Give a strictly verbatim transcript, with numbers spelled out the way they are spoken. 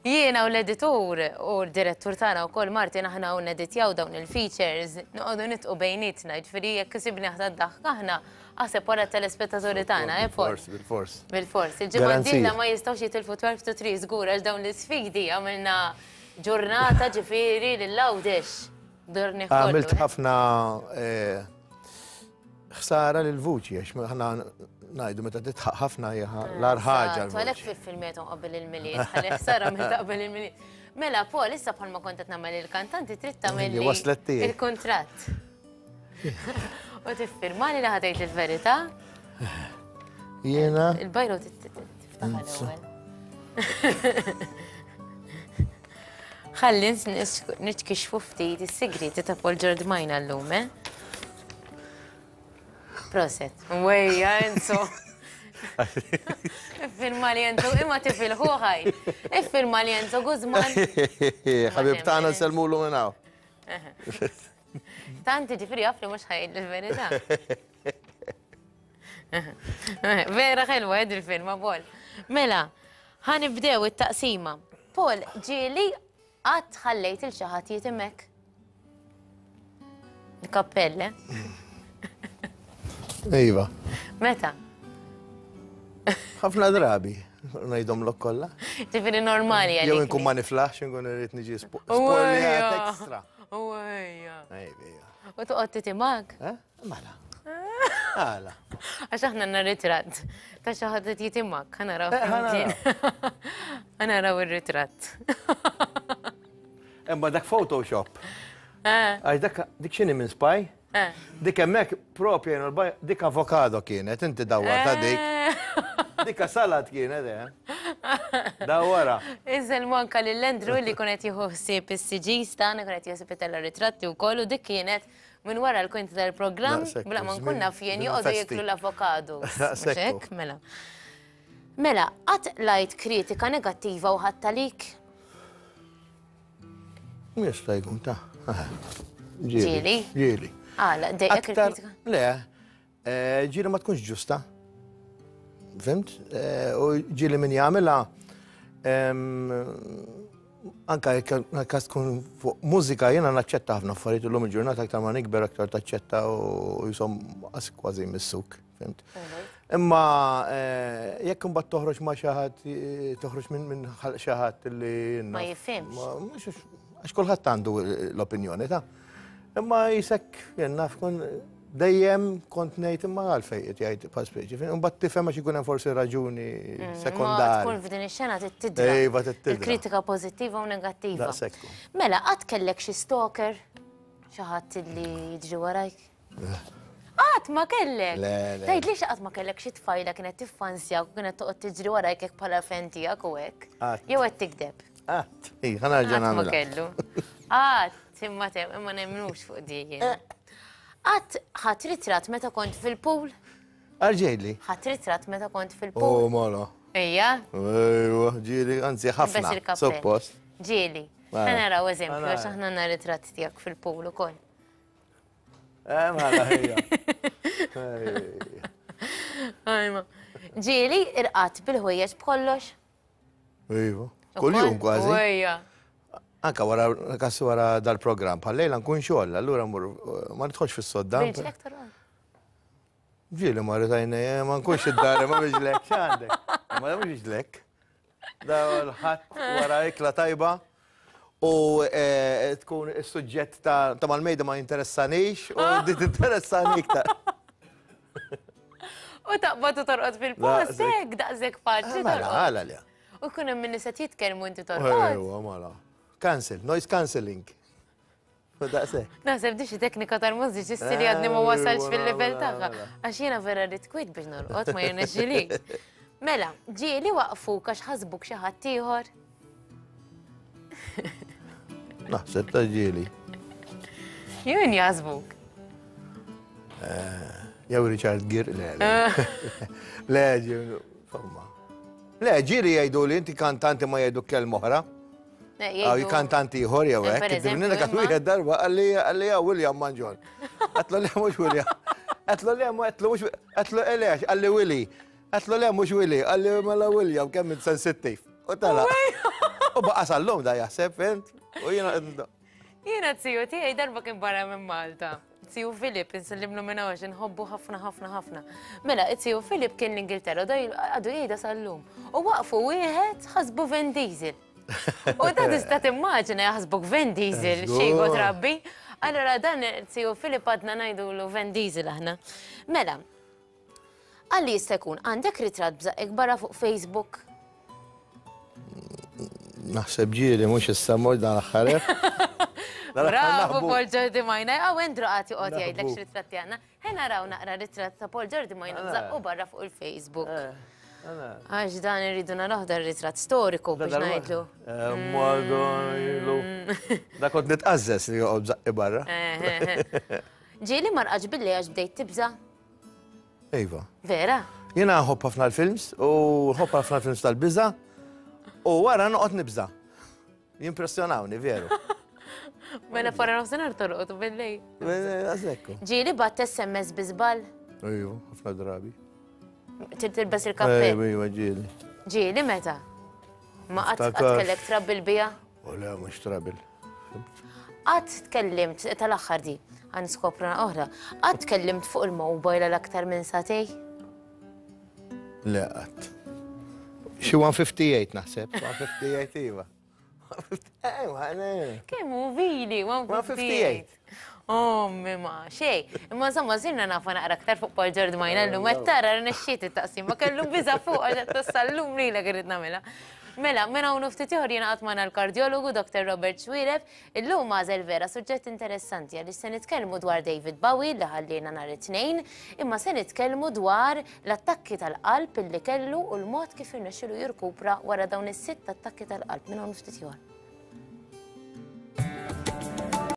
Jiena u l-editur u l-direttur tagħna wkoll Martin aħna u neditjaw dawn il-features, noqogħdu nidħku bejnietna, ġifieri jekk isibni aħna d-daħk aħna, aħseb wara telespettaturi tagħna, eh Paul? Bil-fors, bil-fors. Bil-fors. Il-ġimgħa Garanzija. d-dieħla ma jistgħux jitilfu twelve to three żgur għax dawn l-isfidi għamilna ġurnata ġifieri lil Għawdex. Durni kollu. Għamilt eh? ħafna eh, ħsara lil vuċi, għax ħana ngħidu meta tidħaq ħafna hija l-agħar ħaġa. Eżatt, għalhekk fil-filmiet qabel il-Milied, ħalli ħsara meta qabel il-Milied. Mela, Paul, issa bħalma kont qed nagħmel il-kantanti trid tagħmel Li waslet tiegħi. il-kuntratt. U tiffirmali li ħa tgħid il-verità, Jiena il-bajro tiftaħ l-ewwel. Ħalli nitkixfu ftit is-sigriti ta' Paul Giordmaina llum, eh? Prosit. Wejja, Enzo. Iffirma li Enzo, imma tifilħu ħaj. Iffirma li Enzo Guzman. Ħabib tagħna nsellmulu minn hawn. Tanti ġifieri jaf li mhux ħa jgħid il-verità. Vera ħelwa ed il-firma, Paul. Mela, ħa nibdew it-taqsima. Paul, ġieli qatt ħallejt lil xi ħadd jitimek? Il-kappell, eh? Iva. Meta? Ħafna drabi, ngħidhomlok kollha. Ġifieri normali għalik. Jew inkun ma niflaħx, inkun irrid niġi spoiljat extra. Uwejja. Ejja. U toqgħod titimak? Eh? Mela. Għala. Għax aħna għandna ritratt ta' xi ħadd qed jitimak, ħa naraw Eh, ħa naraw. flimkien. Ħa naraw ir-ritratt. Imma dak Photoshop. Eh, Għax dak dik x'inhi minn spy? eh. Dik hemmhekk propja jenu l-baj, dik avokado kienet, inti dawwarta dik. Dik salad kienet, eh. Dawwara. Iżel anka lil Andrew li kien qed jieħu ħsieb is-C Gs tagħna, kien qed jieħu ħsieb itella' ritratti wkoll u dik kienet minn wara l-kwinti tal-programm, Daqshekk, bla ma nkun żmien- naf jien żmien joqogħdu festi. jieklu l-avokado. Daqshekk. Hekk, mela. Mela, qatt qlajt kritika negattiva u ħadt għalik? Jista' jkun ta' Ġieli? Ġieli. Għala, dejqek Aktar, il-kritika? le, eh, ġieli ma tkunx ġusta. Fhimt? Eh, U ġieli min jagħmilha em, anka jekk kas tkun fuq mużika jiena naċċetta ħafna affarijiet illum il-ġurnata aktar ma nikber aktar taċċetta u jisom qas kważi missuk, fhimt? Imma eh, jekk imbagħad toħroġ ma' xi ħadd eh, toħroġ minn minn ħalq xi ħadd li Ma jifhimx. Ma mhux għax kulħadd għandu l-opinjoni ta'. Imma jisek jien naf kun dejjem kont ngħid imma għalfejn qed jgħid pa speċi. Imbagħad tifhem għax ikun hemm forsi raġuni Ma sekondarja. tkun f'din ix-xena tidra. Iva, tidra. Il-kritika pożittiva u negattiva. Daqshekk. Mela, qatt kellek xi stalker? Xi ħadd li jiġri warajk? Qatt ma kellek? Le, le. Tgħid li qatt ma kellek xi tfajla kienet tiffansja u kienet toqgħod tiġri warajk hekk bħala fan tiegħek u hekk? Qatt. Jew qed tikdeb? Qatt, ij, ħa nerġa' Qatt ma nagħmilha. kellu. Qatt, imma tem, imma nemmnux fuq di jien. Qatt ħadt ritratt meta kont fil-pool? Arġejli. Ħadt ritratt meta kont Oh, fil-pool? mela. Ejja? Ejwa, ġieli, anzi ħafna. Bes il-kappell. Suppost. Ġieli. Mela. Ħa naraw eżempju, Ħa naraw. għax aħna għandna ritratt tiegħek fil-pool ukoll. Eh, mela, ejja. Ejja. Ajma. Ġieli irqadt bil-ħwejjeġ b'kollox? Iva. Kull-jum kważi. Ejja. Anka wara kas wara dal-programm, bħal-lejla nkun xogħol, allura mmur ma nidħolx fis-sodda. B'riġlek torqod? Ġieli ma rritajna, ma nkunx id-dar, ma b'riġlek, x'għandek? Ma mhux riġlek. Da l-ħadd wara ikla tajba u eh, tkun is-suġġett ta' ta' mal-mejda ma jinteressanix u di tinteressani iktar. U taqbad u torqod fil-post, Daqshekk. hekk, daqshekk faċli Mela, torqod. għala li. U jkun hemm min nisa jitkellmu inti torqod. Ejwa, mela. Cancel, noise cancelling. U daqshekk. Naħseb di xi teknika tal-mużiċisti li għadni ma wasalx fil-livell tagħha. Għax jiena vera rrid kwit biex norqod ma jirnexxilix. Mela, ġieli waqfuk għax ħasbuk xi ħadd ieħor. Naħseb ta' ġieli. Jien jaħsbuk. Jew Richard Gere, le, le. Le, ġieli, insomma. Le, ġieli jgħidu li inti kantanti ma jgħidu kelma oħra. Għaw kantanti ieħor jew Eh, hekk. per eżempju, Dik imma- wieħed darba qalli qalli ja William Manġon. Għedtlu le mhux William. Għedtlu le għedtlu mhux għedtlu għaliex, qalli Willy. Għedtlu le mhux Willy, qalli mela William kemm int sensittiv. U tala. U baqa sal-lum da jaħseb, fhimt? U jiena. Jiena z-ziju tiegħi darba kien barra minn Malta. Ziju Filip, insellimlu minn għax nħobbu ħafna ħafna ħafna. Mela, ziju Filip kien l-Ingilterra, da għadu jgħidha sal-lum. U waqfu wieħed ħasbu Vin Diesel. U da tista' timmaġina jaħsbuk Vin Diesel, xi trabbi. Allora dan ziju Filip għadna ngħidulu Vin Diesel aħna. Mela, għalli jista' jkun għandek ritratt b'żaqqek barra fuq Facebook? Naħseb ġieli, mhux issa, mhux dan l-aħħar. Bravo, Paul Giordi Majna. Għaw Andrew għati għoti jgħidlek x'ritratti għandna. Ħa naraw naqra ritratt ta' Paul Giordi Majna b'żaqqu barra fuq il-Facebook. Għax dan irridu naraw, dan ritratt storiku biex ngħidlu. Madonna. Da kont nitqażżes li joqgħod b'żaqqi barra. Ġieli ma rqadtx bil-lejl għax bdejt tibża? Iva. Vera? Jiena nħobb ħafna l-films u nħobb ħafna l-films tal-biża u wara noqgħod nibża. Jimpressjonawni, veru. Mela wara nofsinhar torqod u bil-lejl. Għażekku. Ġieli bgħatt S M S bi żball? Ejju, ħafna drabi. Tilbes il-kappell. Ejju, ġieli. Ġieli meta? Ma qatt qatt Niftakar. kellek trouble biha? U le, mhux trouble. Qatt tkellimt, tal-aħħar di, għan skopra oħra, qatt tkellimt fuq il-mobile għal aktar minn sagħtejn? Le, qatt. Xi mija u ħamsa u ħamsin naħseb, mija u ħamsa u ħamsin, iva. Ejwa, ne. Kemm hu vili, mija u ħamsa u ħamsin. Oh, ma, xej. Imma insomma, sirna nafa naqra aktar fuq Paul Giordi Majna llum, qed tara rnexxiet it-taqsima, kellu biża fuq għax qed sal-lum lilek irrid nagħmilha. Mela, minn hawn ftit ieħor jingħaqad magħna l-kardjologu Doctor Robert Xuereb. Illum għażel vera suġġett interessanti għaliex se nitkellmu dwar David Bowie li ħallina nhar it-Tnejn, imma se nitkellmu dwar l-attakki tal-qalb illi kellu u l-mod kif irnexxielu jirkupra wara dawn is-sitt attakki tal-qalb. Minn hawn ftit ieħor.